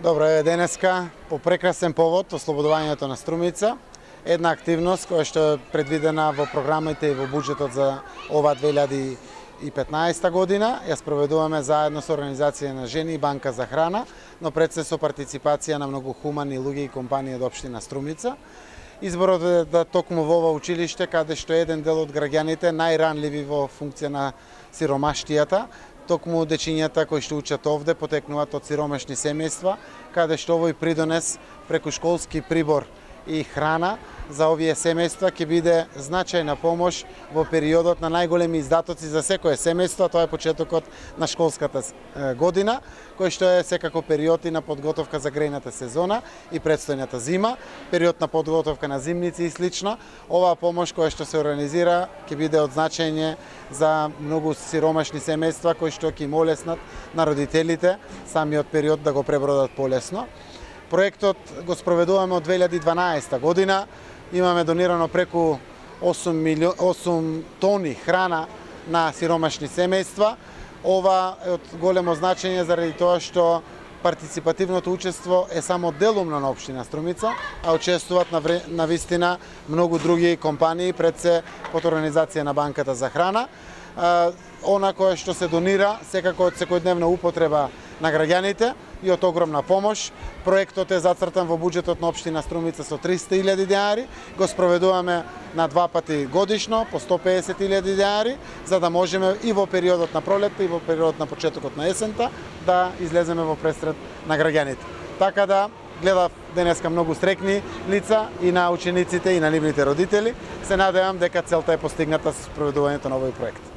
Добро е денеска по прекрасен повод ослободувањето на Струмица. Една активност која што е предвидена во програмите и во буџетот за ова 2015 година. Ја спроведуваме заедно со Организација на жени и Банка за храна, но пред се со партиципација на многу хумани луѓе и компании од општина Струмица. Изборот е да токму во ова училиште, каде што еден дел од граѓаните најранливи во функција на сиромаштијата, токму дечињата кои што учат овде потекнуваат од сиромашни семејства, каде што овој придонес преку школски прибор и храна за овие семејства ќе биде значајна помош во периодот на најголеми издатоци за секое семејство, тоа е почетокот на школската година, кој што е секако период и на подготовка за грејната сезона и предстојната зима, период на подготовка на зимници и слично. Оваа помош која што се организира ќе биде од значење за многу сиромашни семејства кои што ќе им олеснат на родителите самиот период да го пребродат полесно. Проектот го спроведуваме од 2012 година. Имаме донирано преку 8 тони храна на сиромашни семејства. Ова е од големо значење заради тоа што партиципативното учество е само делумно на општина Струмица, а учествуваат на вистина многу други компании, пред се под организација на Банката за храна. Она кое што се донира секако од секојдневна употреба на граѓаните и од огромна помош. Проектот е зацртан во буџетот на општина Струмица со 300.000 денари, го спроведуваме на 2 пати годишно по 150.000 денари, за да можеме и во периодот на пролетта и во периодот на почетокот на есента да излеземе во пресред на граѓаните. Така да гледав денеска многу стрекни лица и на учениците и на нивните родители. Се надевам дека целта е постигната со спроведувањето на овој проект.